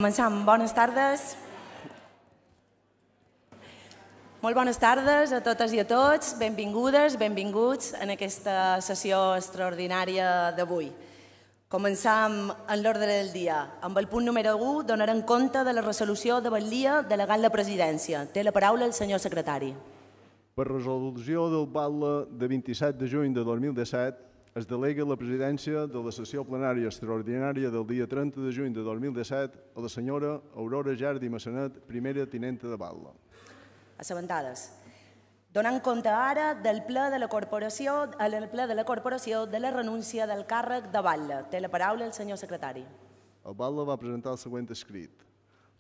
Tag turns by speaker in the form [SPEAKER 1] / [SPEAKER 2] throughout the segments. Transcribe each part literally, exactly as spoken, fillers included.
[SPEAKER 1] Començam. Bones tardes. Molt bones tardes a totes i a tots. Benvingudes, benvinguts en aquesta sessió extraordinària d'avui. Començam en l'ordre del dia. Amb el punt número u donarem compte de la resolució de Batllia delegant la presidència. Té la paraula el senyor secretari.
[SPEAKER 2] Per resolució del Batlle de vint-i-set de juny de dos mil disset, es delega la presidència de la sessió plenària extraordinària del dia trenta de juny de dos mil disset a la senyora Aurora Jardi Massanet, primera tinenta de Batlle.
[SPEAKER 1] Assabentades. Donant compte ara del ple de la corporació, el ple de la corporació de la renúncia del càrrec de Batlle. Té la paraula el senyor secretari.
[SPEAKER 2] El Batlle va presentar el següent escrit.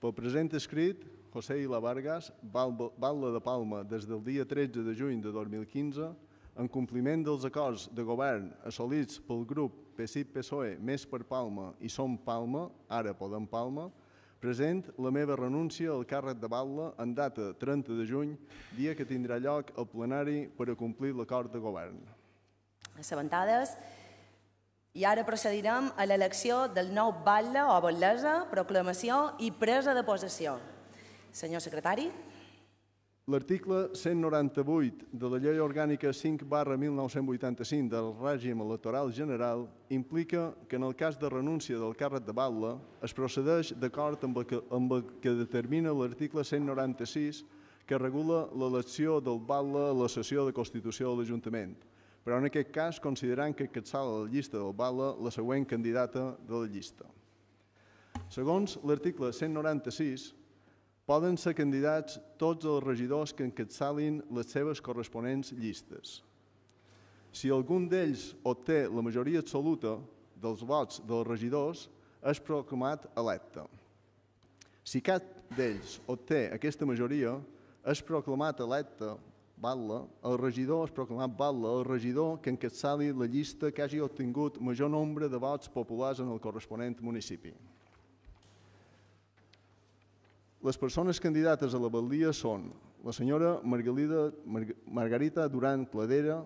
[SPEAKER 2] Pel present escrit, José Ila Vargas, Batlle de Palma, des del dia tretze de juny de dos mil quinze, en compliment dels acords de govern assolits pel grup P S I P P S O E Més per Palma i Som Palma, ara Podem Palma, present la meva renúncia al càrrec de Batlle en data trenta de juny, dia que tindrà lloc el plenari per a complir l'acord de govern.
[SPEAKER 1] Assabentades. I ara procedirem a l'elecció del nou batlle o batlessa, proclamació i presa de possessió. Senyor secretari.
[SPEAKER 2] L'article cent noranta-vuit de la Llei Orgànica cinc barra mil nou-cents vuitanta-cinc del règim electoral general implica que en el cas de renúncia del càrrec de batlle es procedeix d'acord amb el que, amb el que determina l'article cent noranta-sis que regula l'elecció del batlle a la sessió de constitució de l'Ajuntament, però en aquest cas considerant que encapçala la llista del batlle la següent candidata de la llista. Segons l'article cent noranta-sis, poden ser candidats tots els regidors que encapçalin les seves corresponents llistes. Si algun d'ells obté la majoria absoluta dels vots dels regidors, és proclamat electe. Si cap d'ells obté aquesta majoria, és proclamat electe batlle, el regidor és proclamat batlle, el regidor que encapçali la llista que hagi obtingut major nombre de vots populars en el corresponent municipi. Les persones candidates a la batllia són la senyora Margarita Duran Cladera,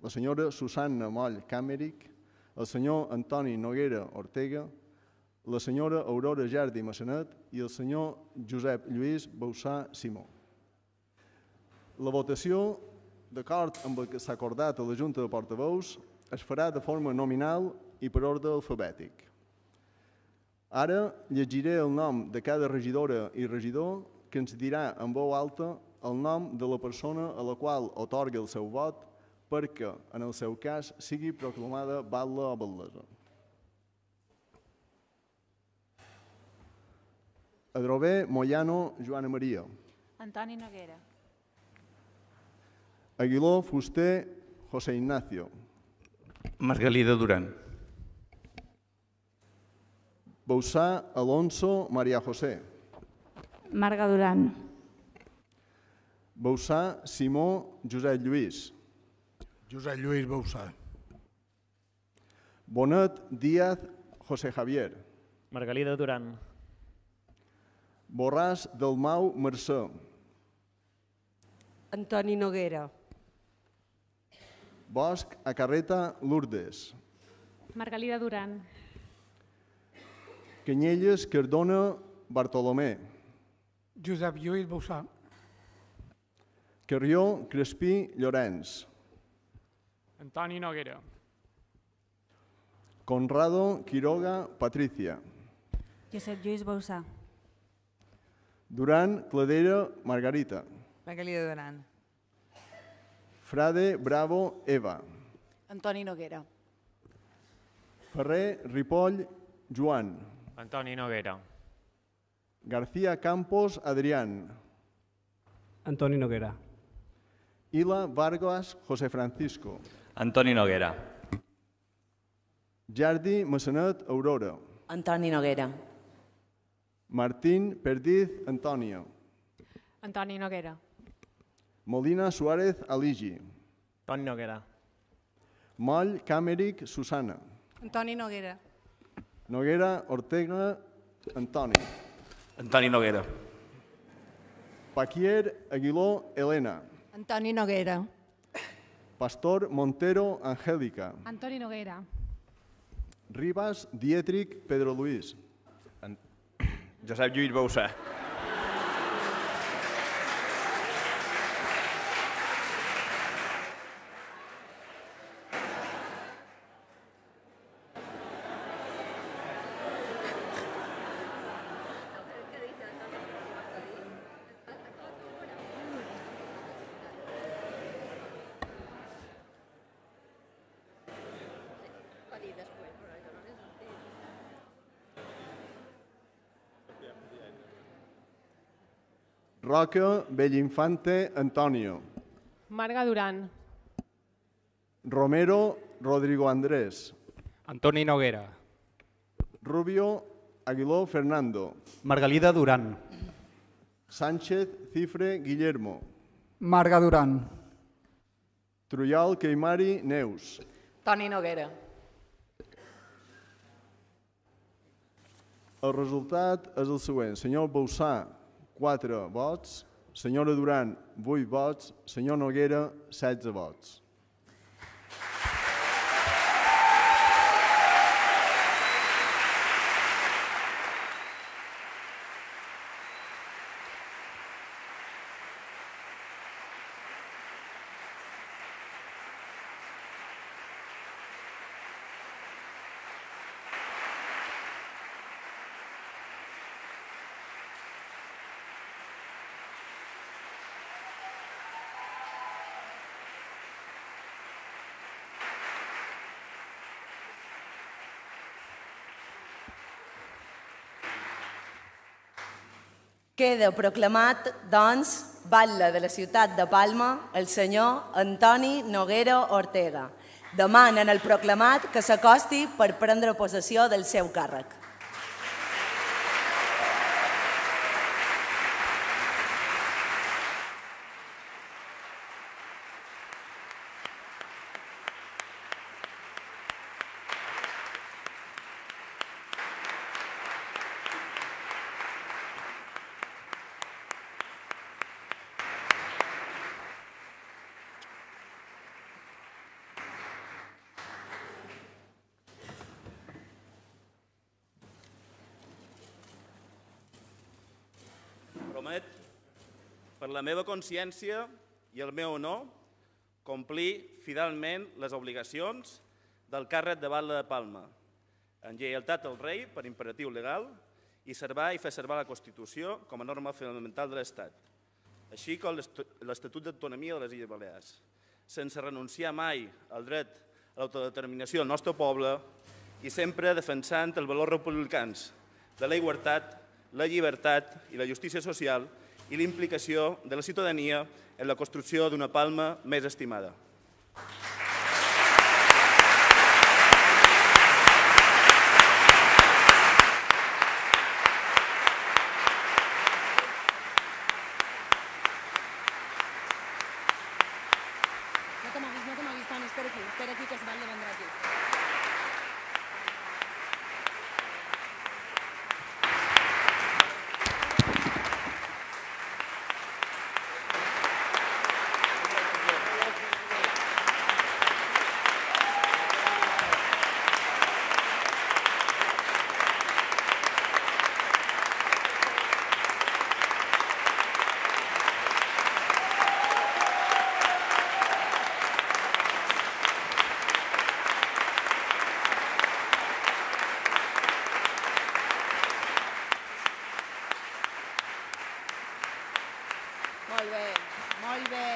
[SPEAKER 2] la senyora Susanna Moll Càmeric, el senyor Antoni Noguera Ortega, la senyora Aurora Jardi Massanet i el senyor Josep Lluís Bausà Simó. La votació, d'acord amb el que s'ha acordat a la Junta de Portaveus, es farà de forma nominal i per ordre alfabètic. Ara llegiré el nom de cada regidora i regidor que ens dirà en veu alta el nom de la persona a la qual atorga el seu vot perquè, en el seu cas, sigui proclamada batlle o batlessa. Adrover Moyano Joana Maria.
[SPEAKER 3] Antoni Noguera.
[SPEAKER 2] Aguiló Fuster José Ignacio.
[SPEAKER 4] Margalida Duran.
[SPEAKER 2] Bausà Alonso María José.
[SPEAKER 3] Marga Duran.
[SPEAKER 2] Bausà Simó Josep Lluís.
[SPEAKER 5] Josep Lluís Bausà.
[SPEAKER 2] Bonet Díaz José Javier.
[SPEAKER 6] Margalida Duran.
[SPEAKER 2] Borràs Dalmau Mercè.
[SPEAKER 7] Antoni Noguera.
[SPEAKER 2] Bosch Acarreta Lourdes.
[SPEAKER 3] Margalida Duran.
[SPEAKER 2] Canyelles Cardona Bartolomé.
[SPEAKER 5] Josep Lluís Bausà.
[SPEAKER 2] Carrió Crespí Llorenç.
[SPEAKER 8] Antoni Noguera.
[SPEAKER 2] Conrado Quiroga Patricia.
[SPEAKER 3] Josep Lluís Bausà.
[SPEAKER 2] Duran Cladera Margarita.
[SPEAKER 7] Margalida Duran.
[SPEAKER 2] Frade Bravo Eva.
[SPEAKER 7] Antoni Noguera.
[SPEAKER 2] Ferrer Ripoll Joan.
[SPEAKER 6] Antoni Noguera.
[SPEAKER 2] García Campos Adrián.
[SPEAKER 9] Antoni Noguera.
[SPEAKER 2] Ila Vargas José Francisco.
[SPEAKER 4] Antoni Noguera.
[SPEAKER 2] Jardi Massanet Aurora.
[SPEAKER 1] Antoni Noguera.
[SPEAKER 2] Martín Perdiz Antonio.
[SPEAKER 3] Antoni Noguera.
[SPEAKER 2] Molina Suárez Aligi.
[SPEAKER 6] Antoni Noguera.
[SPEAKER 2] Moll Càmeric Susana.
[SPEAKER 7] Antoni Noguera.
[SPEAKER 2] Noguera Ortega Antoni.
[SPEAKER 4] Antoni Noguera.
[SPEAKER 2] Paquier Aguiló Elena.
[SPEAKER 7] Antoni Noguera.
[SPEAKER 2] Pastor Montero Angélica.
[SPEAKER 3] Antoni Noguera.
[SPEAKER 2] Ribas Dietrich Pedro Luis.
[SPEAKER 4] Josep Lluís Bausà.
[SPEAKER 2] Roca Bellinfante Antonio.
[SPEAKER 3] Marga Duran.
[SPEAKER 2] Romero Rodrigo Andrés.
[SPEAKER 9] Antoni Noguera.
[SPEAKER 2] Rubio Aguiló Fernando.
[SPEAKER 9] Margalida Duran.
[SPEAKER 2] Sánchez Cifre Guillermo.
[SPEAKER 5] Marga Duran.
[SPEAKER 2] Truyal Queimari Neus.
[SPEAKER 7] Toni Noguera.
[SPEAKER 2] El resultat és el següent. Senyor Bausà, quatre vots. Senyora Duran, vuit vots. Senyor Noguera, setze vots.
[SPEAKER 1] Queda proclamat, doncs, batlle de la ciutat de Palma, el senyor Antoni Noguera Ortega. Demanen al proclamat que s'acosti per prendre possessió del seu càrrec.
[SPEAKER 4] Promet, per la meva consciència i el meu honor, complir fidelment les obligacions del càrrec de batlle de Palma, en lleialtat al rei per imperatiu legal i servar i fer servir la Constitució com a norma fonamental de l'Estat, així com l'Estatut d'Autonomia de les Illes Balears, sense renunciar mai al dret a l'autodeterminació del nostre poble i sempre defensant els valors republicans de la igualtat, la llibertat i la justícia social i l'implicació de la ciutadania en la construcció d'una Palma més estimada.
[SPEAKER 1] No te moguis, no te moguis, Toni, espera aquí, espera aquí que es batlle vendrà aquí. Molt bé, molt bé.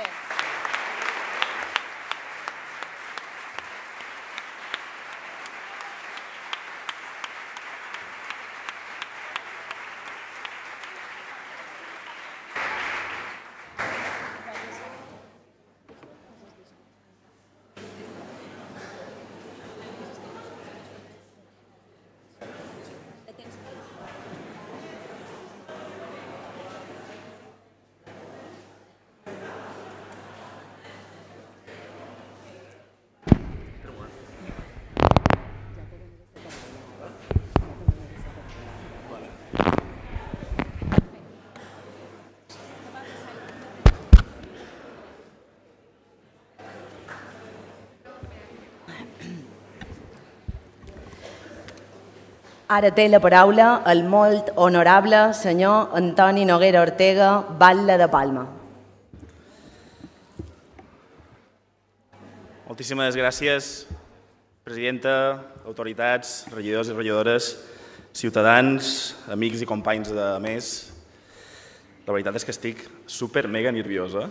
[SPEAKER 1] Ara té la paraula el molt honorable senyor Antoni Noguera Ortega, batlle de Palma.
[SPEAKER 4] Moltíssimes gràcies, presidenta, autoritats, regidors i regidores, ciutadans, amics i companys de més. La veritat és que estic super mega nerviosa.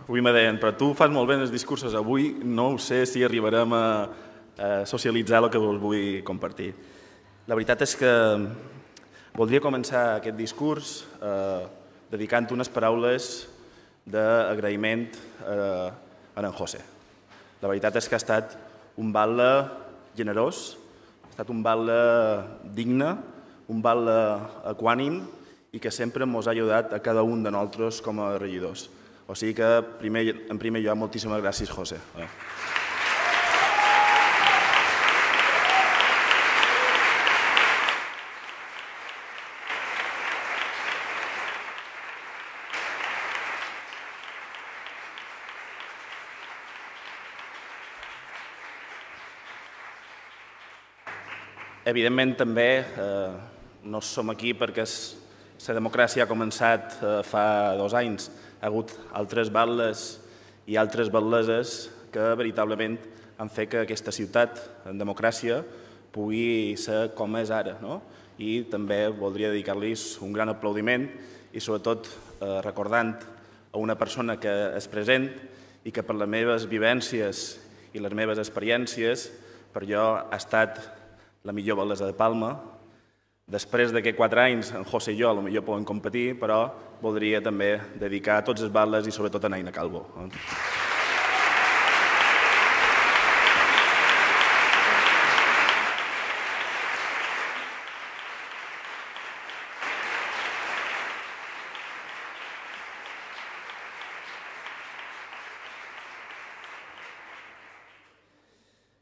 [SPEAKER 4] Avui me deien, però tu fas molt bé els discursos, avui no ho sé si arribarem a socialitzar el que us vull compartir. La veritat és que voldria començar aquest discurs dedicant unes paraules d'agraïment a en José. La veritat és que ha estat un batlle generós, ha estat un batlle digne, un batlle equànim i que sempre ens ha ajudat a cada un de nosaltres com a regidors. O sigui que, en primer lloc, moltíssimes gràcies, José. Evidentment, també no som aquí perquè la democràcia ha començat fa dos anys. Hi ha hagut altres batlles i altres batleses que veritablement han fet que aquesta ciutat en democràcia pugui ser com és ara. I també voldria dedicar-los un gran aplaudiment i sobretot recordant a una persona que és present i que per les meves vivències i les meves experiències per jo ha estat la millor batlessa de Palma. Després d'aquests quatre anys, en José i jo potser podem competir, però voldria també dedicar a tots els batlles i sobretot a Naina Calvo.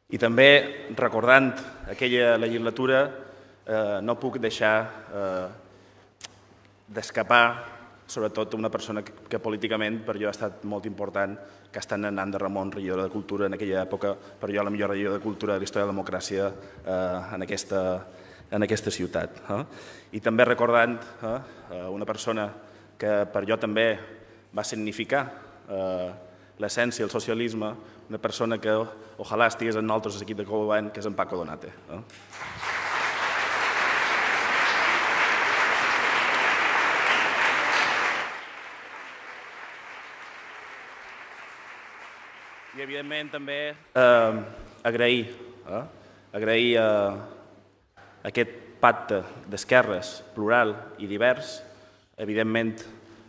[SPEAKER 4] I també, recordant aquella legislatura, no puc deixar d'escapar, sobretot una persona que políticament per jo ha estat molt important, que ha estat Nan de Ramon, regidora de Cultura en aquella època, per jo la millor regidora de Cultura de la història de la democràcia en aquesta ciutat. I també recordant una persona que per jo també va significar l'essència del socialisme, una persona que ojalà estigués en nosaltres l'equip de govern, que és en Paco Donate. I, evidentment, també agrair agrair aquest pacte d'esquerres plural i divers, evidentment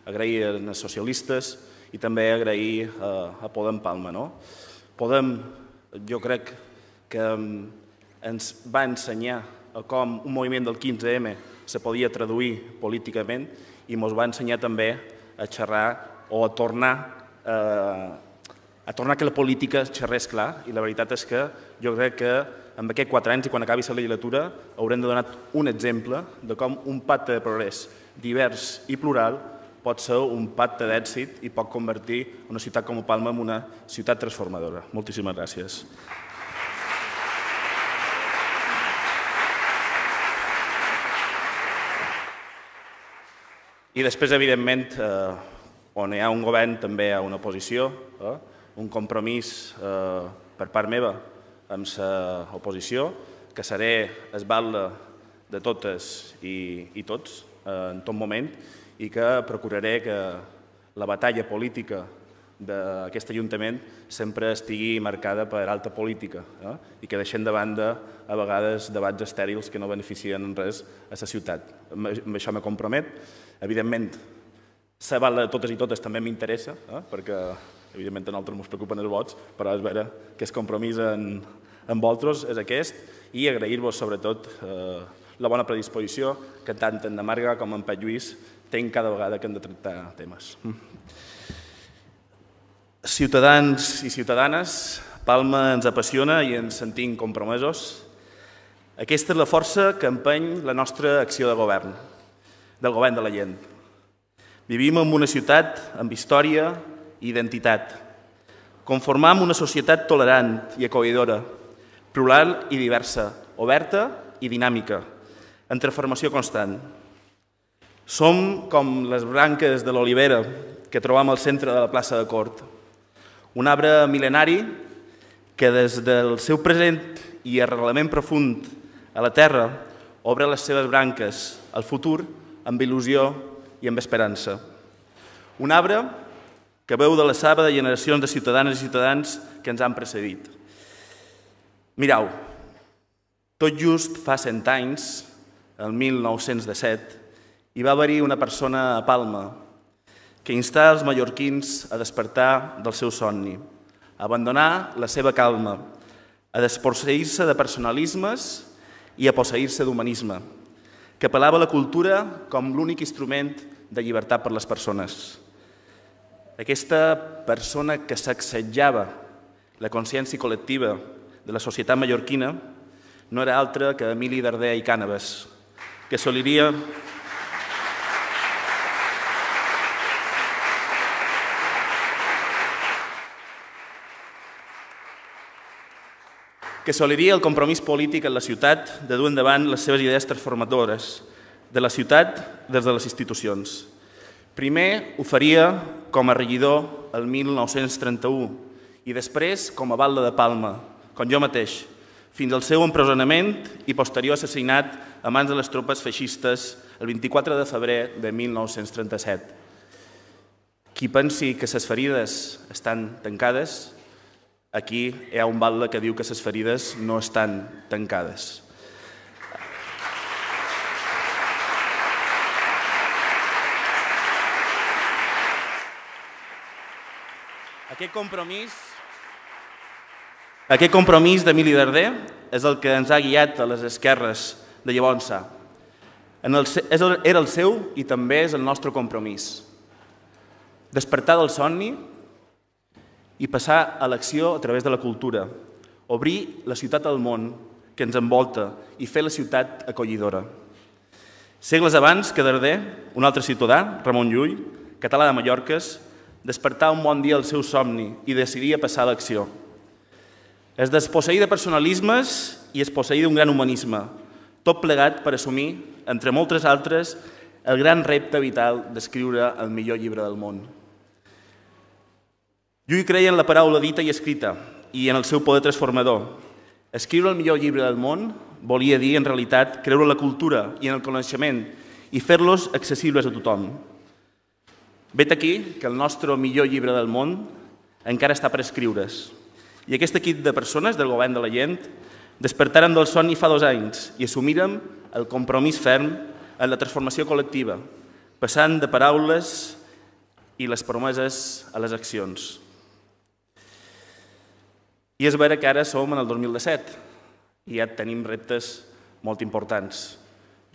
[SPEAKER 4] agrair als socialistes i també agrair a Podem Palma. Podem, jo crec que ens va ensenyar com un moviment del quinze eme se podia traduir políticament i ens va ensenyar també a xerrar o a tornar a tornar que la política xerrés clar, i la veritat és que jo crec que en aquests quatre anys i quan acabi la legislatura haurem de donar un exemple de com un pacte de progrés divers i plural pot ser un pacte d'èxit i pot convertir una ciutat com Palma en una ciutat transformadora. Moltíssimes gràcies. I després, evidentment, on hi ha un govern també hi ha una oposició, un compromís per part meva amb l'oposició, que seré el batlle de totes i tots en tot moment, i que procuraré que la batalla política d'aquest Ajuntament sempre estigui marcada per alta política i que deixem de banda a vegades debats estèrils que no beneficien en res a la ciutat. Amb això me compromet. Evidentment, ser batlle de totes i totes també m'interessa, perquè evidentment a nosaltres ens preocupen els vots, però és vera que el compromís amb vosaltres és aquest i agrair-vos sobretot la bona predisposició que tant en Marga com en Pep Lluís tenc cada vegada que hem de tractar temes. Ciutadans i ciutadanes, Palma ens apassiona i ens sentim compromesos. Aquesta és la força que empeny la nostra acció de govern, del govern de la gent. Vivim en una ciutat amb història i identitat. Conformam una societat tolerant i acollidora, plural i diversa, oberta i dinàmica, en transformació constant. Som com les branques de l'olivera que trobam al centre de la plaça de Cort. Un arbre mil·lenari que des del seu present i arrelament profund a la terra obre les seves branques al futur amb il·lusió i amb esperança. Un arbre que veu de la saba de generacions de ciutadanes i ciutadans que ens han precedit. Mireu, tot just fa cent anys, el mil nou-cents disset, hi va haver-hi una persona a Palma que instà els mallorquins a despertar del seu somni, a abandonar la seva calma, a desposseir-se de personalismes i a posseir-se d'humanisme, que apel·lava a la cultura com l'únic instrument de llibertat per les persones. Aquesta persona que sacsejava la consciència col·lectiva de la societat mallorquina no era altra que Emili Darder i Cànoves, que soliria que soliria el compromís polític en la ciutat de dur endavant les seves idees transformadores de la ciutat des de les institucions. Primer ho faria com a regidor el mil nou-cents trenta-u i després com a batlle de Palma, com jo mateix, fins al seu empresonament i posterior assassinat a mans de les tropes feixistes el vint-i-quatre de febrer de mil nou-cents trenta-set. Qui pensi que les ferides estan tancades, aquí hi ha un batlle que diu que les ferides no estan tancades. Aquest compromís, aquest compromís d'Emili Darder és el que ens ha guiat a les esquerres de llavors. Era el seu i també és el nostre compromís. Despertar del somni i passar a l'acció a través de la cultura, obrir la ciutat al món que ens envolta i fer la ciutat acollidora. Segles abans que Darder, un altre ciutadà, Ramon Llull, català de Mallorques, despertar un bon dia el seu somni i decidir passar a l'acció. Es desposseir de personalismes i es posseir d'un gran humanisme, tot plegat per assumir, entre moltes altres, el gran repte vital d'escriure el millor llibre del món. Llull creia en la paraula dita i escrita i en el seu poder transformador. Escriure el millor llibre del món volia dir, en realitat, creure en la cultura i en el coneixement i fer-los accessibles a tothom. Vet aquí que el nostre millor llibre del món encara està per escriure's. I aquest equip de persones del govern de la gent despertaren del somni fa dos anys i assumirem el compromís ferm en la transformació col·lectiva, passant de paraules i les promeses a les accions. I és vera que ara som en el dos mil disset i ja tenim reptes molt importants.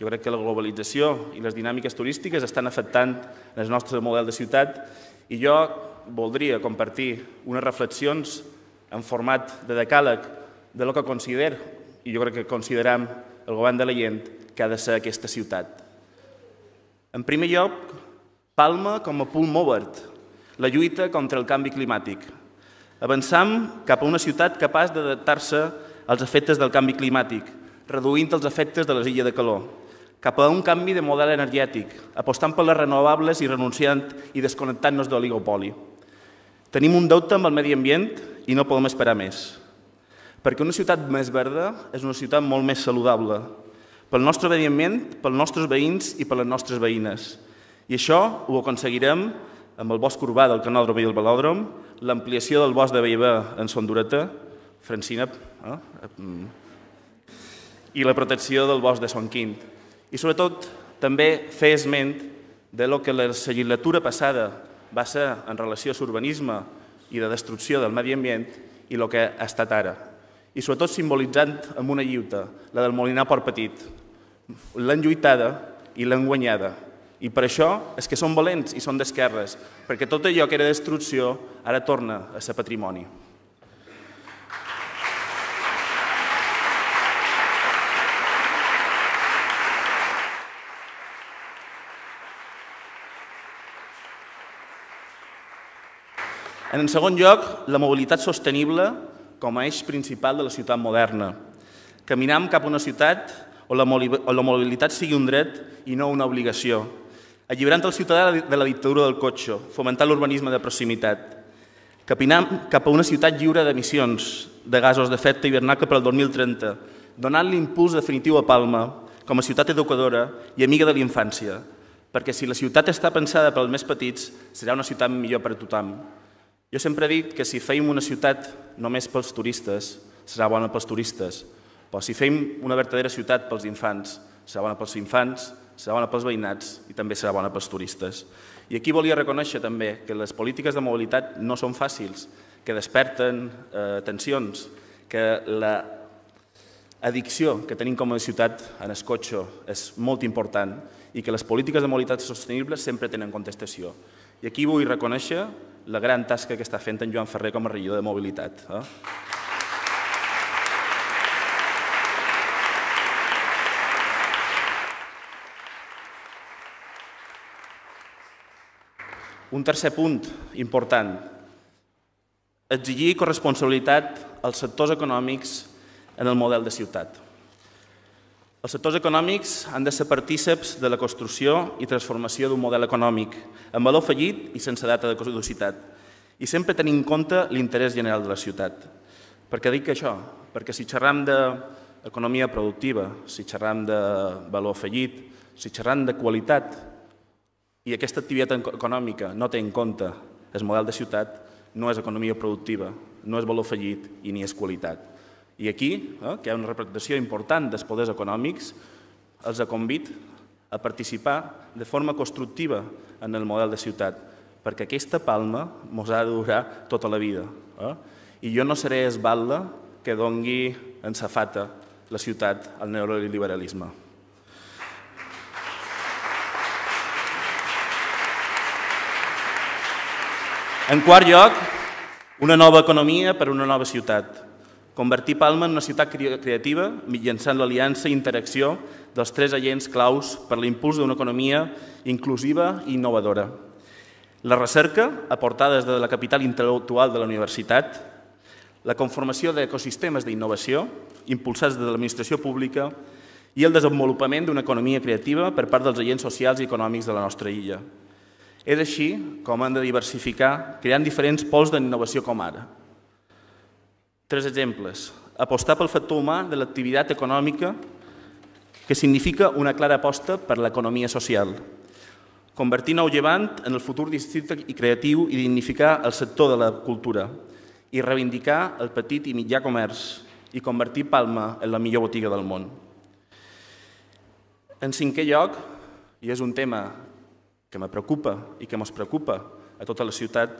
[SPEAKER 4] Jo crec que la globalització i les dinàmiques turístiques estan afectant el nostre model de ciutat i jo voldria compartir unes reflexions en format de decàleg de lo que considero, i jo crec que consideram el govern de la gent, que ha de ser aquesta ciutat. En primer lloc, Palma com a punt mòvert, la lluita contra el canvi climàtic. Avançam cap a una ciutat capaç d'adaptar-se als efectes del canvi climàtic, reduint els efectes de les illes de calor, cap a un canvi de model energètic, apostant per les renovables i renunciant i desconnectant-nos de l'oligopoli. Tenim un deute amb el medi ambient i no podem esperar més. Perquè una ciutat més verda és una ciutat molt més saludable, pel nostre medi ambient, pels nostres veïns i per les nostres veïnes. I això ho aconseguirem amb el bosc urbà del Canòdrom i el Velòdrom, l'ampliació del bosc de Bellver en Son Dureta, Francina, eh? i la protecció del bosc de Son Quint. I sobretot també fer esment de lo que la legislatura passada va ser en relació a l'urbanisme i de destrucció del medi ambient i el que ha estat ara. I sobretot simbolitzant amb una lluita, la del Molinar Port Petit. L'han lluitada i l'han guanyada. I per això és que són valents i són d'esquerres, perquè tot allò que era destrucció ara torna a ser patrimoni. En segon lloc, la mobilitat sostenible com a eix principal de la ciutat moderna. Caminam cap a una ciutat on la mobilitat sigui un dret i no una obligació, alliberant el ciutadà de la dictadura del cotxe, fomentant l'urbanisme de proximitat. Caminam cap a una ciutat lliure d'emissions de gasos d'efecte hivernacle per al dos mil trenta, donant l'impuls definitiu a Palma com a ciutat educadora i amiga de la infància, perquè si la ciutat està pensada pels més petits, serà una ciutat millor per a tothom. Jo sempre he dit que si fèiem una ciutat només pels turistes, serà bona pels turistes, però si fem una verdadera ciutat pels infants, serà bona pels infants, serà bona pels veïnats i també serà bona pels turistes. I aquí volia reconèixer també que les polítiques de mobilitat no són fàcils, que desperten eh, tensions, que l'addicció que tenim com a ciutat en el cotxe és molt important i que les polítiques de mobilitat sostenibles sempre tenen contestació. I aquí vull reconèixer la gran tasca que està fent en Joan Ferrer com a regidor de mobilitat. Eh? Un tercer punt important, exigir corresponsabilitat als sectors econòmics en el model de ciutat. Els sectors econòmics han de ser partíceps de la construcció i transformació d'un model econòmic amb valor afegit i sense data de caducitat i sempre tenint en compte l'interès general de la ciutat. Per què dic això? Perquè si xerram d'economia productiva, si xerram de valor afegit, si xerram de qualitat, i aquesta activitat econòmica no té en compte el model de ciutat, no és economia productiva, no és valor afegit i ni és qualitat. I aquí, eh, que hi ha una representació important dels poders econòmics, els convido a participar de forma constructiva en el model de ciutat, perquè aquesta palma ens ha de durar tota la vida. Eh? I jo no seré el batlle que doni en safata la ciutat al neoliberalisme. En quart lloc, una nova economia per a una nova ciutat. Convertir Palma en una ciutat creativa mitjançant l'aliança i interacció dels tres agents claus per l'impuls d'una economia inclusiva i innovadora. La recerca, aportada des de la capital intel·lectual de la universitat, la conformació d'ecosistemes d'innovació impulsats des de l'administració pública i el desenvolupament d'una economia creativa per part dels agents socials i econòmics de la nostra illa. És així com hem de diversificar, creant diferents pols d'innovació com ara. Tres exemples. Apostar pel factor humà de l'activitat econòmica, que significa una clara aposta per l'economia social. Convertir Nou Llevant en el futur districte creatiu i dignificar el sector de la cultura i reivindicar el petit i mitjà comerç i convertir Palma en la millor botiga del món. En cinquè lloc, i és un tema que me preocupa i que ens preocupa a tota la ciutat,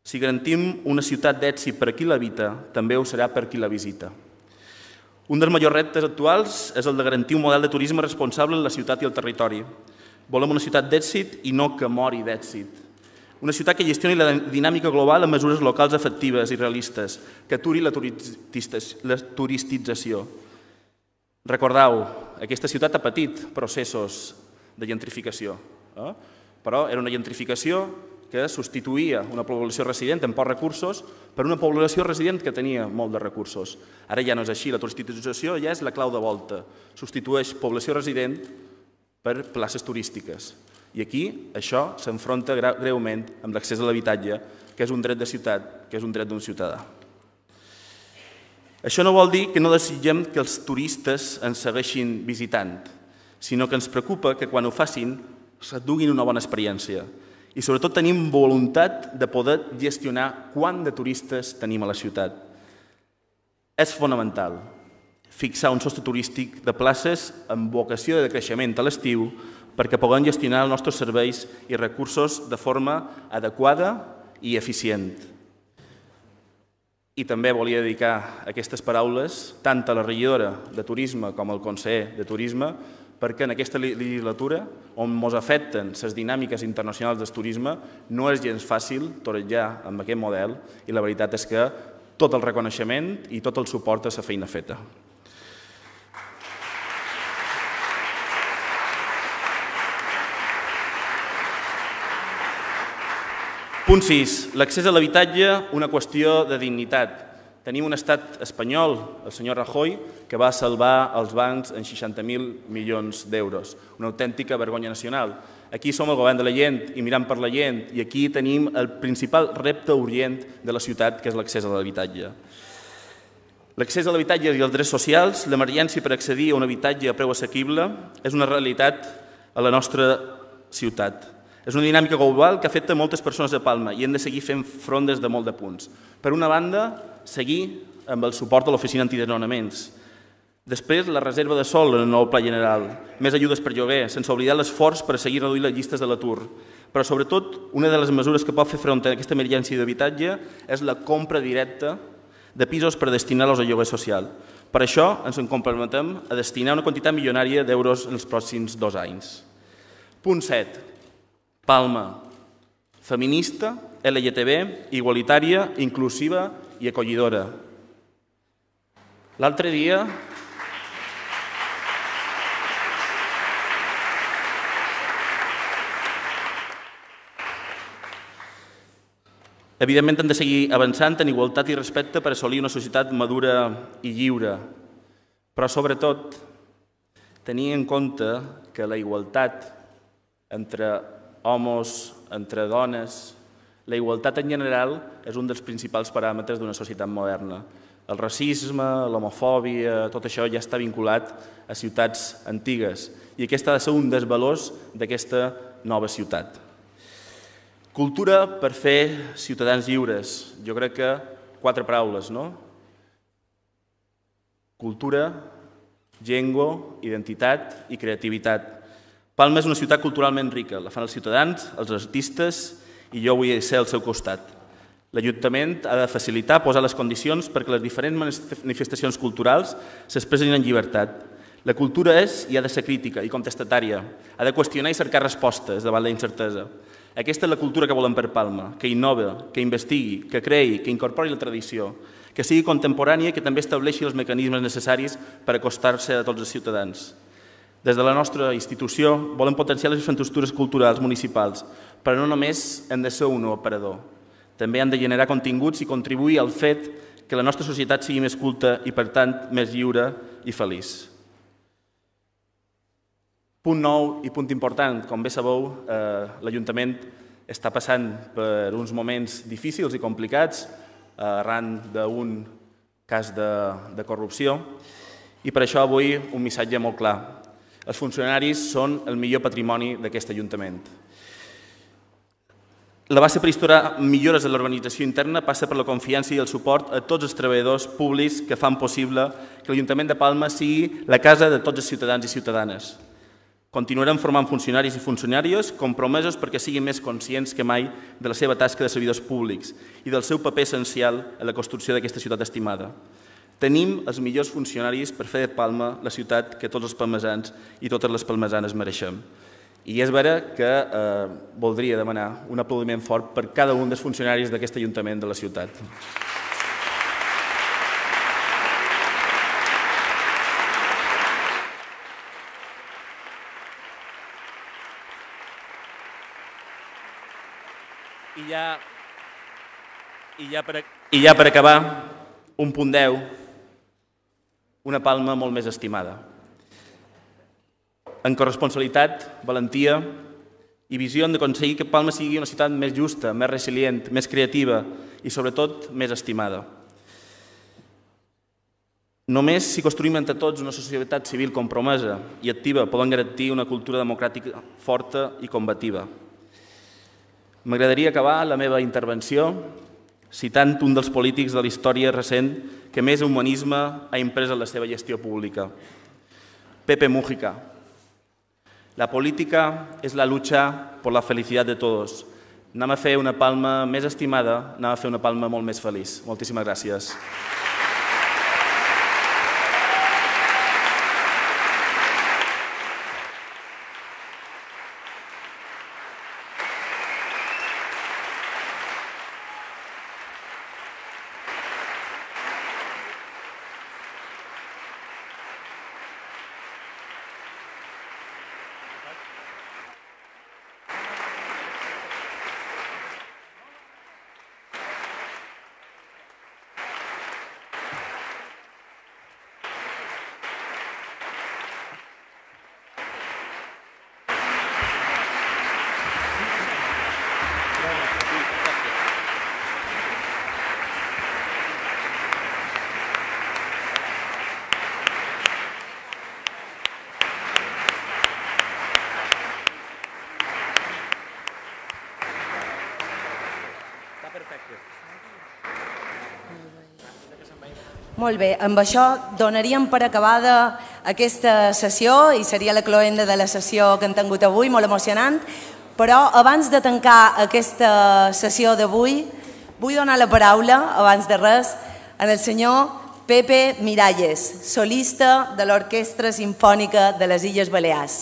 [SPEAKER 4] si garantim una ciutat d'èxit per a qui l'habita, també ho serà per a qui la visita. Un dels majors reptes actuals és el de garantir un model de turisme responsable en la ciutat i el territori. Volem una ciutat d'èxit i no que mori d'èxit. Una ciutat que gestioni la dinàmica global amb mesures locals efectives i realistes, que aturi la turistització. Recordeu, aquesta ciutat ha patit processos de gentrificació, eh? però era una gentrificació que substituïa una població resident amb pocs recursos per una població resident que tenia molt de recursos. Ara ja no és així, la turistització ja és la clau de volta, substitueix població resident per places turístiques. I aquí això s'enfronta greument amb l'accés a l'habitatge, que és un dret de ciutat, que és un dret d'un ciutadà. Això no vol dir que no desitgem que els turistes ens segueixin visitant, sinó que ens preocupa que quan ho facin s'enduguin una bona experiència i sobretot tenim voluntat de poder gestionar quant de turistes tenim a la ciutat. És fonamental fixar un sostre turístic de places amb vocació de creixement a l'estiu perquè puguem gestionar els nostres serveis i recursos de forma adequada i eficient. I també volia dedicar aquestes paraules tant a la regidora de Turisme com al conseller de Turisme perquè en aquesta legislatura, on ens afecten les dinàmiques internacionals del turisme, no és gens fàcil torejar amb aquest model i la veritat és que tot el reconeixement i tot el suport a la feina feta. Punt sis. L'accés a l'habitatge, una qüestió de dignitat. Tenim un estat espanyol, el senyor Rajoy, que va salvar els bancs en seixanta mil milions d'euros. Una autèntica vergonya nacional. Aquí som el govern de la gent i mirant per la gent, i aquí tenim el principal repte urgent de la ciutat, que és l'accés a l'habitatge. L'accés a l'habitatge i els drets socials, l'emergència per accedir a un habitatge a preu assequible, és una realitat a la nostra ciutat. És una dinàmica global que afecta moltes persones de Palma i hem de seguir fent front des de molt de punts. Per una banda, seguir amb el suport a l'oficina antidesnonaments. Després, la reserva de sòl en el nou pla general, més ajudes per lloguer, sense oblidar l'esforç per seguir reduint les llistes de l'atur. Però, sobretot, una de les mesures que pot fer front a aquesta emergència d'habitatge és la compra directa de pisos per destinar-los a lloguer social. Per això, ens en comprometem a destinar una quantitat milionària d'euros en els pròxims dos anys. Punt set. Palma. Feminista, L G T B, igualitària, inclusiva i acollidora. L'altre dia... Evidentment, hem de seguir avançant en igualtat i respecte per assolir una societat madura i lliure. Però, sobretot, tenir en compte que la igualtat entre homes, entre dones, la igualtat en general és un dels principals paràmetres d'una societat moderna. El racisme, l'homofòbia, tot això ja està vinculat a ciutats antigues i aquest ha de ser un dels valors d'aquesta nova ciutat. Cultura per fer ciutadans lliures. Jo crec que quatre paraules, no? Cultura, llengua, identitat i creativitat. Palma és una ciutat culturalment rica, la fan els ciutadans, els artistes i jo vull ser al seu costat. L'Ajuntament ha de facilitar, posar les condicions perquè les diferents manifestacions culturals s'expressin en llibertat. La cultura és i ha de ser crítica i contestatària, ha de qüestionar i cercar respostes davant la incertesa. Aquesta és la cultura que volem per Palma, que innova, que investigui, que creï, que incorpori la tradició, que sigui contemporània i que també estableixi els mecanismes necessaris per acostar-se a tots els ciutadans. Des de la nostra institució volem potenciar les infraestructures culturals municipals, però no només hem de ser un operador. També han de generar continguts i contribuir al fet que la nostra societat sigui més culta i, per tant, més lliure i feliç. Punt nou i punt important. Com bé sabeu, l'Ajuntament està passant per uns moments difícils i complicats arran d'un cas de corrupció i per això avui un missatge molt clar. Els funcionaris són el millor patrimoni d'aquest Ajuntament. La base per instaurar millores en l'organització interna passa per la confiança i el suport a tots els treballadors públics que fan possible que l'Ajuntament de Palma sigui la casa de tots els ciutadans i ciutadanes. Continuarem formant funcionaris i funcionàries compromesos perquè siguin més conscients que mai de la seva tasca de servidors públics i del seu paper essencial en la construcció d'aquesta ciutat estimada. Tenim els millors funcionaris per fer de Palma la ciutat que tots els palmesans i totes les palmesanes mereixem. I és vera que voldria demanar un aplaudiment fort per cada un dels funcionaris d'aquest Ajuntament de la ciutat. I ja, i ja, per, i ja per acabar, un punt deu, una Palma molt més estimada. En corresponsabilitat, valentia i visió hem d'aconseguir que Palma sigui una ciutat més justa, més resilient, més creativa i, sobretot, més estimada. Només si construïm entre tots una societat civil compromesa i activa podem garantir una cultura democràtica forta i combativa. M'agradaria acabar la meva intervenció citant un dels polítics de la història recent que més humanisme ha imprès en la seva gestió pública, Pepe Mújica. La política és la lucha por la felicidad de todos. Anem a fer una Palma més estimada, anem a fer una Palma molt més feliç. Moltíssimes gràcies.
[SPEAKER 1] Molt bé, amb això donaríem per acabada aquesta sessió i seria la cloenda de la sessió que hem tingut avui, molt emocionant, però abans de tancar aquesta sessió d'avui vull donar la paraula, abans de res, al senyor Pepe Miralles, solista de l'Orquestra Simfònica de les Illes Balears.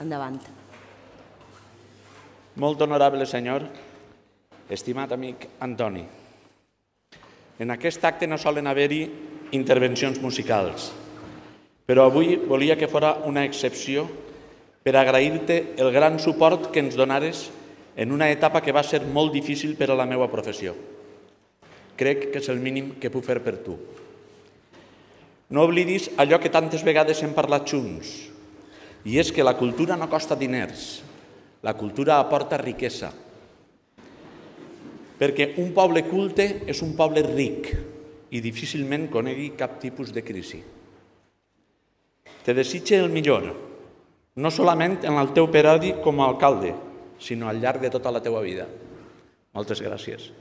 [SPEAKER 1] Endavant.
[SPEAKER 10] Molt honorable senyor, estimat amic Antoni, en aquest acte no solen haver-hi intervencions musicals, però avui volia que fora una excepció per agrair-te el gran suport que ens donares en una etapa que va ser molt difícil per a la meva professió. Crec que és el mínim que puc fer per tu. No oblidis allò que tantes vegades hem parlat junts, i és que la cultura no costa diners, la cultura aporta riquesa. Perquè un poble culte és un poble ric i difícilment conegui cap tipus de crisi. Te desitge el millor, no solament en el teu perodi com a alcalde, sinó al llarg de tota la teua vida. Moltes gràcies.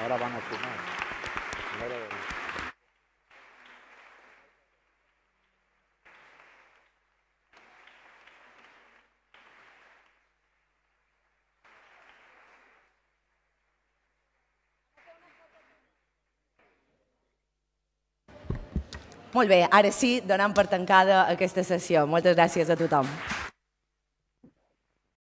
[SPEAKER 10] Ahora van a fumar.
[SPEAKER 1] Molt bé, ara sí, donant per tancada aquesta sessió. Moltes gràcies a tothom.